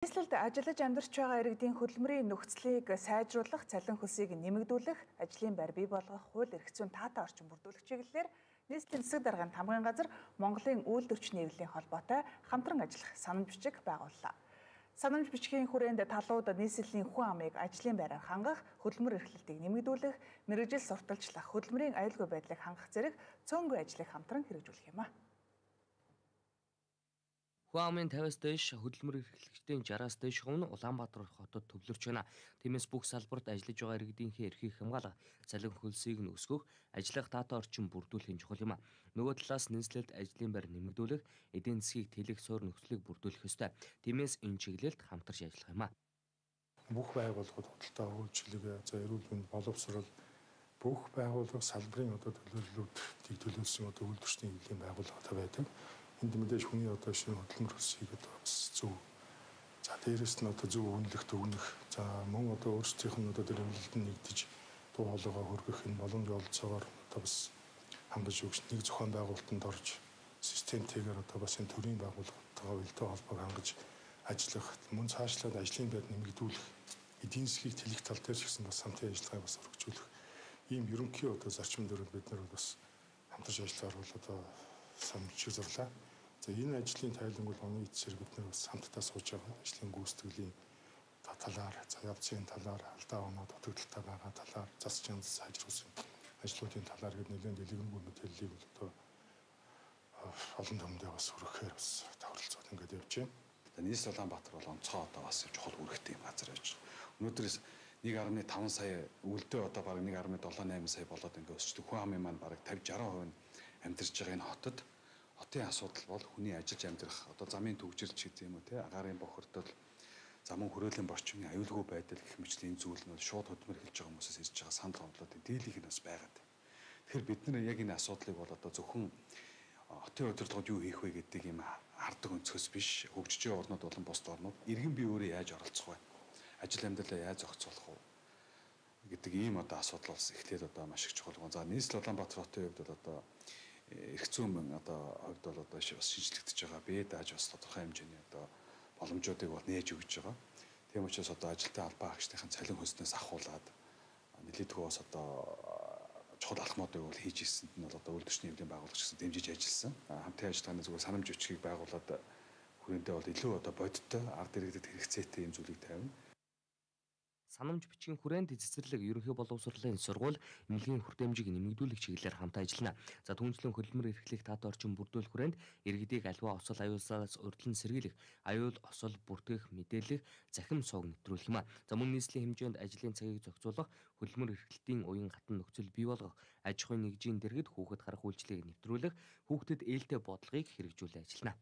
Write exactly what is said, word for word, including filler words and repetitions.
Нийслэлд ажиллаж амьдарч байгаа иргэдийн хөдөлмөрийн нөхцөлийг сайжруулах, цалин хөлсийг нэмэгдүүлэх, ажлын байр бий болгох, хууль эрх зүйн таатай орчин бүрдүүлэх чиглэлээр нийслэлийн засаг даргын тамгын газар Монголын үйлдвэрч нийлэлийн холбоотой хамтран ажиллах санамж бичиг байгууллаа. Санамж бичгийн хүрээнд талууд нийслэлийн хүн амыг ажлын байраар хангах, хөдөлмөр эрхлэлтийг нэмэгдүүлэх, мэргэжил сурталчлах, хөдөлмөрийн аюулгүй байдлыг хангах зэрэг цөөнгүй ажлыг хамтран хэрэгжүүлэх юм а. Хүн амын тавиас дээш хөдөлмөр эрхлэгчдийн жараас дээш хувь нь Улаанбаатар хотод төвлөрч байна. Тиймээс бүх салбарт ажиллаж байгаа иргэдийнхээ эрхийг хамгаалах, цалин хөлсийг нь өсгөх, ажиллах таатай орчин бүрдүүлэх чухал юм а. Нөгөө талаас нийслэлд ажлын байр нэмэгдүүлэх, эдийн засгийг тэлэх суурь нөхцөлийг бүрдүүлэх ёстой. Тиймээс энэ чиглэлд хамтарч ажиллах юм а. Бүх байгууллагууд худалдаа үйлчилгээ, за эрүүл мэнд, боловсрол бүх байгууллага салбарын одоо төлөөллүүд төлөвлөсөн одоо үйлдвэрчдийн хэвлэлийн байгууллагатай байдаг. Энд мэдээж хүний одоо шинэ хөдөлмөр хөлсийг одоо бас зөв. За дээрэс нь одоо зөв үнэлэх өгнөх. За мөн одоо өөрсдийнх нь одоо төлөвлөлд нь нэгдэж дуу хоолойгоо хөргөх энэ боломж олцоогоор одоо бас хангаж өгч нэг зохион байгуулалтанд орж системтэйгээр одоо бас энэ төрийн байгууллагатайгаа үйлдэл холбоог хангаж ажиллах, мөн цаашлаад ажлын байр нэмэгдүүлэх, эдийн засгийг тэлэх тал дээр ч гэсэн бас хамтын ажиллагааг бас өргөжүүлэх. Ийм ерөнхий одоо зарчим дээр бид нар бас хамтарч ажиллахаар бол одоо санамж зурлаа. За энэ ажлын тайлбар бол оны эцсээр бид нар бас хамтдаа сууж байгаа ажлын гүйцэтгэлийн талаар, за явцын талаар, алдаа оноо дутагдaltaй байгаа талаар, зас чанар сайжруулсан ажлуудын талаар гээд нэлээд дэлгэрэнгүй мэдээллийг бол одоо олон түмэндээ бас хүргэхээр бас тохиролцоод ингээд явж байна. Нийслэл Улаанбаатар бол онцгой одоо бас чухал үүрэгтэй юм газар байж байгаа. Өнөөдрөөс нэг гаруй таван сая үлдээ одоо бараг нэг гаруй долоо найман сая болоод ингээд өсчдөг. Хүн амын маань бараг тавьж шаран хувь нь амьдарч байгаа энэ хотод хотын асуудал бол хүний ажиллаж амьдрах одоо замын төвжирч гэдэг юм уу те агаарын бохирдол замун хөрөөлийн борчмын аюулгүй байдал гэх мэтлийн зүйл нь шууд хөдөлмөр хэлж байгаа хүмүүсээс ирж байгаа санал гомдлууд дийлийнх нь бас байгаад. Тэгэхээр бид нар яг энэ асуудлыг бол одоо зөвхөн хотын удирдлагад юу хийх вэ гэдэг юм хардаг өнцгөөс биш хөгжиж байгаа орнууд болон бусд орнууд иргэн бие өөрөө яаж оролцох вэ? Ажил амьдралаа яаж зохицуулах вэ гэдэг ийм одоо асуудал бас эхлээд одоо маш их чухал. За нийслэл Улаанбаатар хотын хувьд бол одоо эрх зүйн одоо хувьд бол одоо бас шинжлэгдэж байгаа. Бие дааж бас тодорхой хэмжээний одоо боломжуудыг бол нээж өгч байгаа. Тийм учраас одоо ажилтны албан хаагчдын цалин хөлснөөс ахуулаад нэлээдгүй бас одоо чухал алхмуудыг бол хийж ирсэнд нь бол одоо үйлдвэрчний хэвлэлийн байгууллагч гэсэн дэмжиж ажилласан. Хамтын ажиллагааны зүгээр санамж бичгийг байгуулад хүрээндээ бол илүү одоо бодиттой ард иргэдэд хэрэгцээтэй юм зүйлийг тавина. Санамж бичгийн хүрээнд цэцэрлэг ерөнхий боловсролын сургууль эмнэлгийн хүртээмжийг нэмэгдүүлэх чиглэлээр хамтаа ажиллана. За түүнчлэн хөдөлмөр эрхлэх таатай орчин бүрдүүлэх хүрээнд иргэдийг аливаа осол аюулсаас урьдчилан сэргийлэх, аюул осол бүртгэх, мэдээлэх, захим сууг нэвтрүүлэх юм а. За мөн нийслэлийн хэмжээнд ажлын цагийг зохицуулах, хөдөлмөр эрхлэлтийн уян хатан нөхцөл бий болгох, аж ахуйн нэгжийн дэргэд хүүхэд харах үйлчлэгийг нэвтрүүлэх, хүүхдэд ээлтэй бодлогыг хэрэгжүүлэн ажиллана.